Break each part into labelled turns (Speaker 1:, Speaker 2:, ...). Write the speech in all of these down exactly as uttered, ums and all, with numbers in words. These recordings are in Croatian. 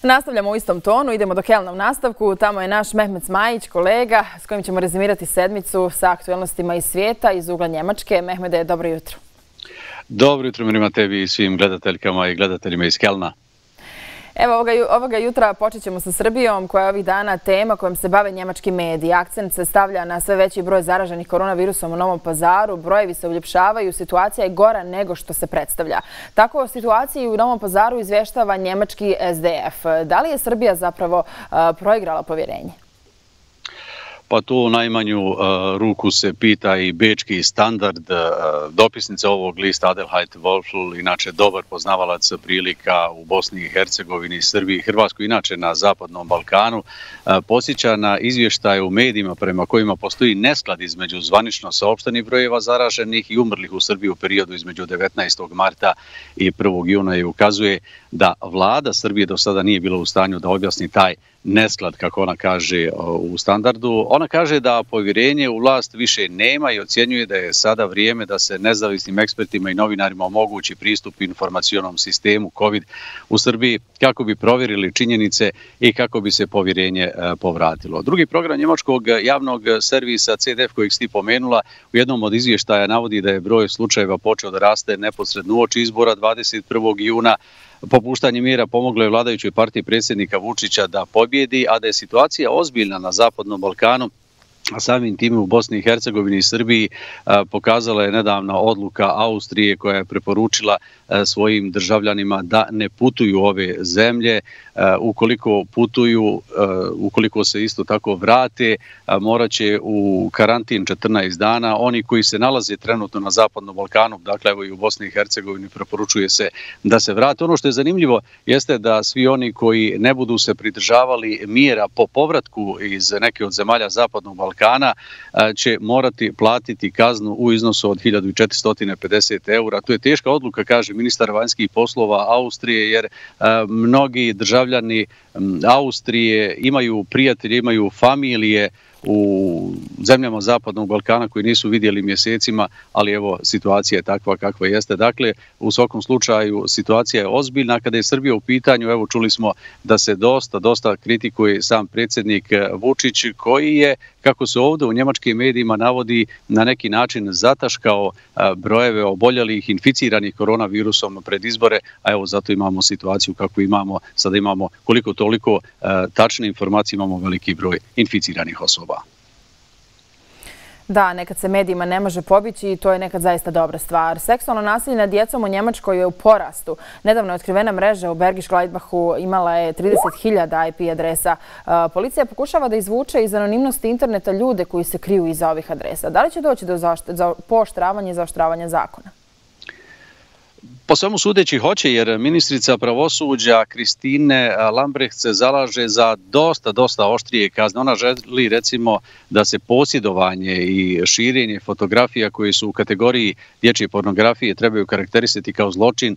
Speaker 1: Nastavljamo u istom tonu, idemo do Kelna u nastavku. Tamo je naš Mehmet Zmajić, kolega, s kojim ćemo rezimirati sedmicu sa aktualnostima iz svijeta, iz ugla Njemačke. Mehmede, dobro jutro.
Speaker 2: Dobro jutro, Mirima, tebi i svim gledateljkama i gledateljima iz Kelna.
Speaker 1: Evo, ovoga, ovoga jutra počet ćemo sa Srbijom, koja je ovih dana tema kojom se bave njemački mediji. Akcent se stavlja na sve veći broj zaraženih koronavirusom u Novom Pazaru, brojevi se uljepšavaju, situacija je gora nego što se predstavlja. Tako o situaciji u Novom Pazaru izvještava njemački S D F. Da li je Srbija zapravo uh, proigrala povjerenje?
Speaker 2: Pa tu u najmanju uh, ruku se pita i bečki standard. Uh, dopisnica ovog lista Adelheid Wolfl, inače dobar poznavalac prilika u Bosni i Hercegovini, Srbiji i Hrvatskoj, inače na Zapadnom Balkanu, uh, posjeća na izvještaje u medijima prema kojima postoji nesklad između zvanično saopštenih brojeva zaraženih i umrlih u Srbiji u periodu između devetnaestog marta i prvog juna i ukazuje da vlada Srbije do sada nije bila u stanju da objasni taj nesklad, kako ona kaže u standardu. Ona kaže da povjerenje u vlast više nema i ocjenjuje da je sada vrijeme da se nezavisnim ekspertima i novinarima omogući pristup informacionom sistemu COVID u Srbiji kako bi provjerili činjenice i kako bi se povjerenje povratilo. Drugi program njemačkog javnog servisa C D F kojeg si pomenula u jednom od izvještaja navodi da je broj slučajeva počeo da raste neposredno uoči izbora dvadeset prvog juna. Popuštanje mjera pomoglo je vladajućoj partiji predsjednika Vučića da pobjedi, a da je situacija ozbiljna na Zapadnom Balkanu, a samim tim u Bosni i Hercegovini i Srbiji, pokazala je nedavna odluka Austrije koja je preporučila svojim državljanima da ne putuju ove zemlje. Ukoliko putuju, ukoliko se isto tako vrate, morat će u karantin četrnaest dana. Oni koji se nalaze trenutno na Zapadnom Balkanu, dakle evo i u Bosni i Hercegovini, preporučuje se da se vrate. Ono što je zanimljivo jeste da svi oni koji ne budu se pridržavali mjera po povratku iz neke od zemalja Zapadnog Balkana će morati platiti kaznu u iznosu od hiljadu četiristo pedeset eura. To je teška odluka, kaže ministar vanjskih poslova Austrije, jer mnogi državljani Austrije imaju prijatelje, imaju familije u zemljama Zapadnog Balkana koji nisu vidjeli mjesecima, ali evo situacija je takva kakva jeste. Dakle, u svakom slučaju situacija je ozbiljna. Kada je Srbija u pitanju, evo čuli smo da se dosta, dosta kritikuje sam predsjednik Vučić, koji je, kako se ovdje u njemačkim medijima navodi, na neki način zataškao brojeve oboljelih, inficiranih koronavirusom pred izbore, a evo zato imamo situaciju kako imamo, sada imamo koliko toliko tačne informacije, imamo veliki broj inficiranih osoba.
Speaker 1: Da, nekad se medijima ne može pobići i to je nekad zaista dobra stvar. Seksualno nasilje nad djecom u Njemačkoj je u porastu. Nedavno je otkrivena mreža u Bergisch Gladbachu, imala je trideset hiljada I P adresa. Policija pokušava da izvuče iz anonimnosti interneta ljude koji se kriju iza ovih adresa. Da li će doći do pooštravanja i zaoštravanja zakona?
Speaker 2: Po svemu sudeći hoće, jer ministrica pravosuđa Kristine Lambrecht se zalaže za dosta, dosta oštrije kazne. Ona želi recimo da se posjedovanje i širenje fotografija koji su u kategoriji dječje pornografije trebaju karakterisati kao zločin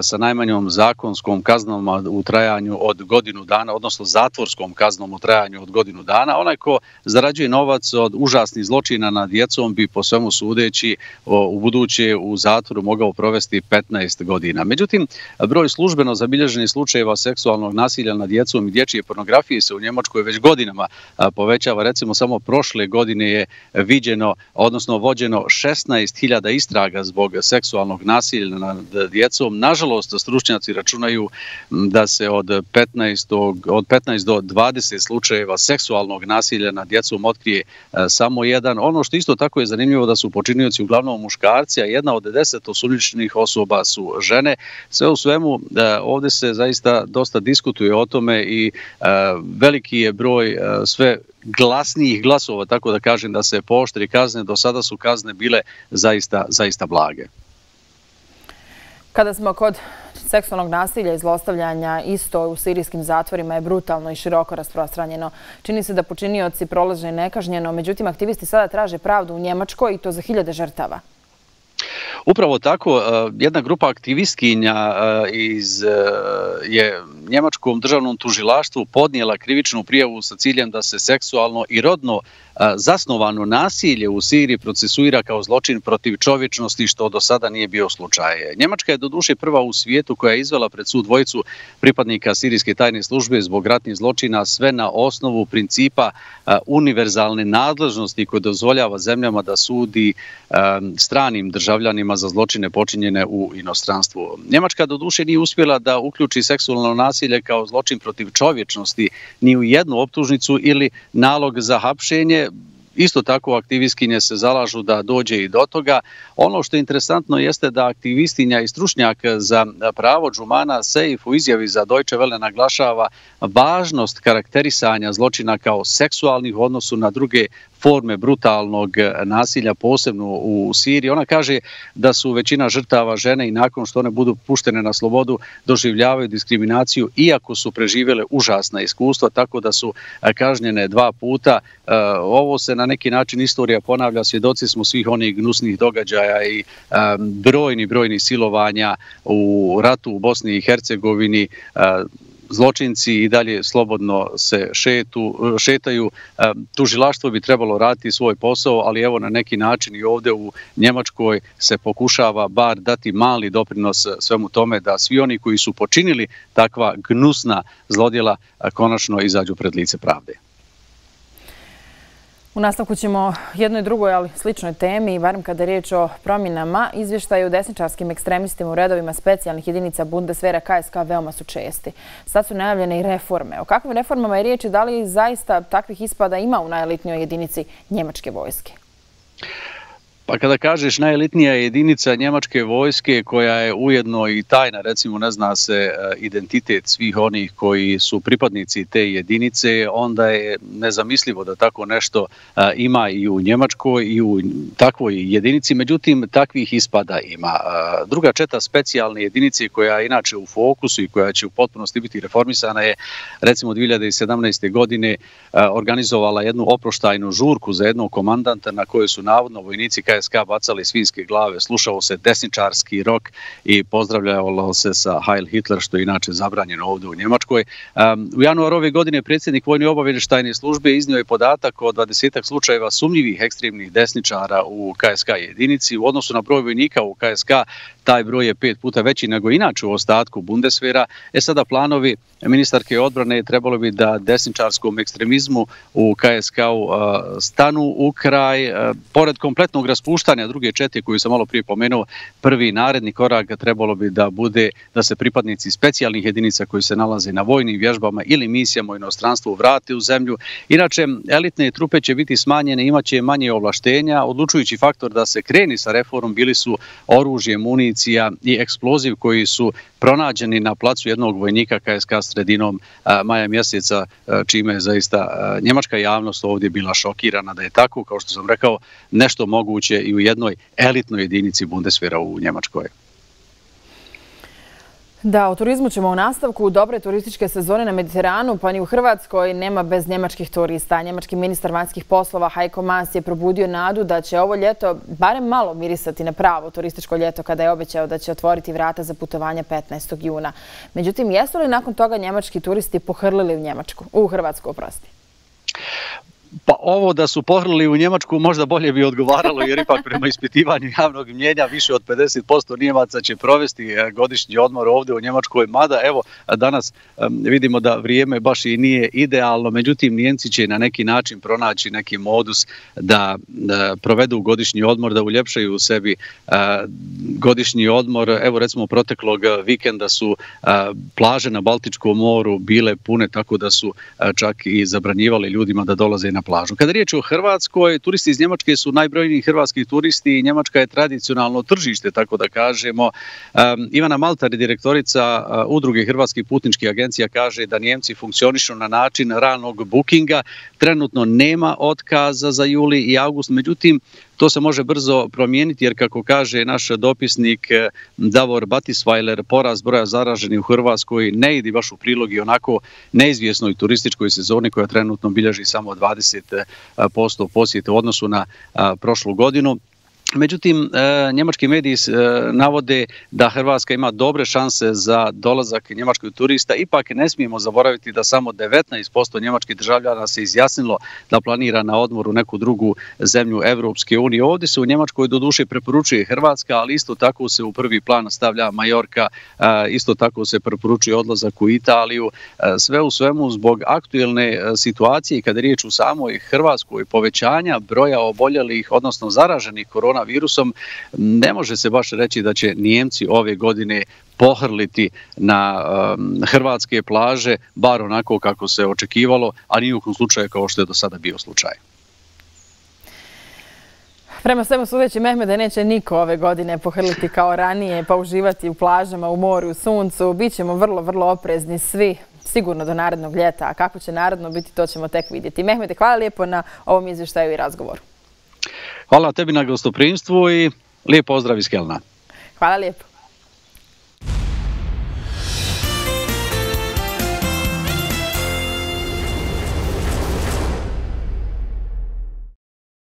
Speaker 2: sa najmanjom zakonskom kaznom u trajanju od godinu dana, odnosno zatvorskom kaznom u trajanju od godinu dana. Onaj ko zarađuje novac od užasnih zločina nad djecom bi po svemu sudeći u buduće u zatvoru mogao provesti petnaest godina. Međutim, broj službeno zabilježenih slučajeva seksualnog nasilja nad djecom i dječje pornografije se u Njemačkoj već godinama povećava. Recimo, samo prošle godine je viđeno, odnosno vođeno šesnaest hiljada istraga zbog seksualnog nasilja nad djecom. Nažalost, stručnjaci računaju da se od petnaest do dvadeset slučajeva seksualnog nasilja nad djecom otkrije samo jedan. Ono što isto tako je zanimljivo da su počinioci uglavnom muškarci, a jedna od deset osumnjičenih osoba su žene. Sve u svemu, ovdje se zaista dosta diskutuje o tome i veliki je broj sve glasnijih glasova, tako da kažem, da se pooštri kazne. Do sada su kazne bile zaista, zaista blage.
Speaker 1: Kada smo kod seksualnog nasilja i zlostavljanja, isto u sirijskim zatvorima je brutalno i široko rasprostranjeno. Čini se da počinioci prolaze nekažnjeno, međutim aktivisti sada traže pravdu u Njemačkoj i to za hiljade žrtava.
Speaker 2: Upravo tako, jedna grupa aktivistkinja iz je njemačkom državnom tužilaštvu podnijela krivičnu prijavu sa ciljem da se seksualno i rodno zasnovano nasilje u Siriji procesuira kao zločin protiv čovječnosti, što do sada nije bio slučaj. Njemačka je doduše prva u svijetu koja je izvela pred sud dvojicu pripadnika sirijske tajne službe zbog ratnih zločina, sve na osnovu principa univerzalne nadležnosti koje dozvoljava zemljama da sudi stranim državljanima za zločine počinjene u inostranstvu. Njemačka doduše nije uspjela da uključi seksualno nasilje kao zločin protiv čovječnosti ni u jednu optužnicu ili nalog za hapšenje. Isto tako aktivistkinje se zalažu da dođe i do toga. Ono što je interesantno jeste da aktivistinja i stručnjak za pravo Džumana Seif u izjavi za Deutsche Welle naglašava važnost karakterisanja zločina kao seksualnih u odnosu na druge forme brutalnog nasilja, posebno u Siriji. Ona kaže da su većina žrtava žene i nakon što one budu puštene na slobodu doživljavaju diskriminaciju iako su preživjele užasna iskustva, tako da su kažnjene dva puta. Ovo se na neki način istorija ponavlja, svjedoci smo svih onih gnusnih događaja i brojni, brojni silovanja u ratu u Bosni i Hercegovini. Zločinci i dalje slobodno se šetu, šetaju. Tužilaštvo bi trebalo raditi svoj posao, ali evo na neki način i ovdje u Njemačkoj se pokušava bar dati mali doprinos svemu tome da svi oni koji su počinili takva gnusna zlodjela konačno izađu pred lice pravde.
Speaker 1: U nastavku ćemo jednoj drugoj, ali sličnoj temi, barem kada je riječ o promjenama. Izvještaji o desničarskim ekstremistima u redovima specijalnih jedinica Bundeswehra K S K veoma su česti. Sad su najavljene i reforme. O kakvim reformama je riječ i da li zaista takvih ispada ima u najelitnijoj jedinici njemačke vojske?
Speaker 2: Pa kada kažeš najelitnija jedinica njemačke vojske koja je ujedno i tajna, recimo ne zna se identitet svih onih koji su pripadnici te jedinice, onda je nezamislivo da tako nešto ima i u Njemačkoj i u takvoj jedinici, međutim takvih ispada ima. Druga četa specijalne jedinice koja je inače u fokusu i koja će u potpunosti biti reformisana je recimo dvije hiljade sedamnaeste. godine organizovala jednu oproštajnu žurku za jednog komandanta na kojoj su navodno vojnici K S K bacali svinjske glave, slušao se desničarski rok i pozdravljalo se sa Heil Hitler, što je inače zabranjeno ovdje u Njemačkoj. U januaru ove godine predsjednik Vojne obavještajne službe iznio je podatak o dvadesetak slučajeva sumnjivih ekstremnih desničara u K S K jedinici. U odnosu na broj vojnika u K S K taj broj je pet puta veći nego inače u ostatku Bundeswehra. E sada planovi ministarke odbrane trebalo bi da desničarskom ekstremizmu u K S K-u stanu u kraj. Pored kompletnog raspuštanja druge čete koju sam malo prije pomenuo, prvi naredni korak trebalo bi da bude da se pripadnici specijalnih jedinica koji se nalaze na vojnim vježbama ili misijama u inostranstvu vrate u zemlju. Inače, elitne trupe će biti smanjene, imaće manje ovlaštenja. Odlučujući faktor da se kreni sa reformom bili su oružje, municija i eksploziv koji su pronađeni na placu jednog vojnika K S K sredinom maja mjeseca, čime je zaista njemačka javnost ovdje bila šokirana da je tako, kao što sam rekao, nešto moguće i u jednoj elitnoj jedinici Bundeswehra u Njemačkoj.
Speaker 1: Da, o turizmu ćemo u nastavku. Dobre turističke sezone na Mediteranu, pa ni u Hrvatskoj nema bez njemačkih turista. Njemački ministar vanjskih poslova Heiko Maas je probudio nadu da će ovo ljeto barem malo mirisati na pravo turističko ljeto kada je obećao da će otvoriti vrata za putovanja petnaestog juna. Međutim, jesu li nakon toga njemački turisti pohrlili u Njemačku, u Hrvatsku, oprosti?
Speaker 2: Pa ovo da su pohrlili u Njemačku možda bolje bi odgovaralo, jer ipak prema ispitivanju javnog mnjenja više od pedeset posto Nijemaca će provesti godišnji odmor ovdje u Njemačkoj. Mada evo danas vidimo da vrijeme baš i nije idealno, međutim Nijemci će na neki način pronaći neki modus da provedu godišnji odmor, da uljepšaju u sebi godišnji odmor. Evo recimo proteklog vikenda su plaže na Baltičkom moru bile pune, tako da su čak i zabranjivali ljudima da dolaze na plažu. Kada je riječ o Hrvatskoj, turisti iz Njemačke su najbrojniji hrvatski turisti i Njemačka je tradicionalno tržište, tako da kažemo. Ivana Maltar, direktorica Udruge hrvatskih putničkih agencija, kaže da Njemci funkcionišu na način ranog bookinga. Trenutno nema otkaza za juli i avgust, međutim, to se može brzo promijeniti jer, kako kaže naš dopisnik Davor Batisvajler, porast broja zaraženih u Hrvatskoj ne ide baš u prilog i onako neizvjesnoj turističkoj sezoni koja trenutno bilježi samo dvadeset posto posjete u odnosu na prošlu godinu. Međutim, njemački mediji navode da Hrvatska ima dobre šanse za dolazak njemačkih turista. Ipak ne smijemo zaboraviti da samo devetnaest posto njemačkih državljana se izjasnilo da planira na odmor u neku drugu zemlju Evropske unije. Ovdje se u Njemačkoj doduše preporučuje Hrvatska, ali isto tako se u prvi plan stavlja Majorka, isto tako se preporučuje odlazak u Italiju. Sve u svemu zbog aktuelne situacije kada je riječ u samoj Hrvatskoj, povećanja broja oboljelih, odnosno zaraženih korona virusom, ne može se baš reći da će Nijemci ove godine pohrliti na um, hrvatske plaže, bar onako kako se očekivalo, a ni u kom slučaju kao što je do sada bio slučaj.
Speaker 1: Prema svemu sudeći, Mehmede, neće niko ove godine pohrliti kao ranije, pa uživati u plažama, u moru, u suncu. Bićemo vrlo, vrlo oprezni svi, sigurno do narednog ljeta. A kako će naredno biti, to ćemo tek vidjeti. Mehmede, hvala lijepo na ovom izvještaju i razgovoru.
Speaker 2: Hvala tebi na gostoprimstvu i lijep pozdrav iz Kelna.
Speaker 1: Hvala lijepo.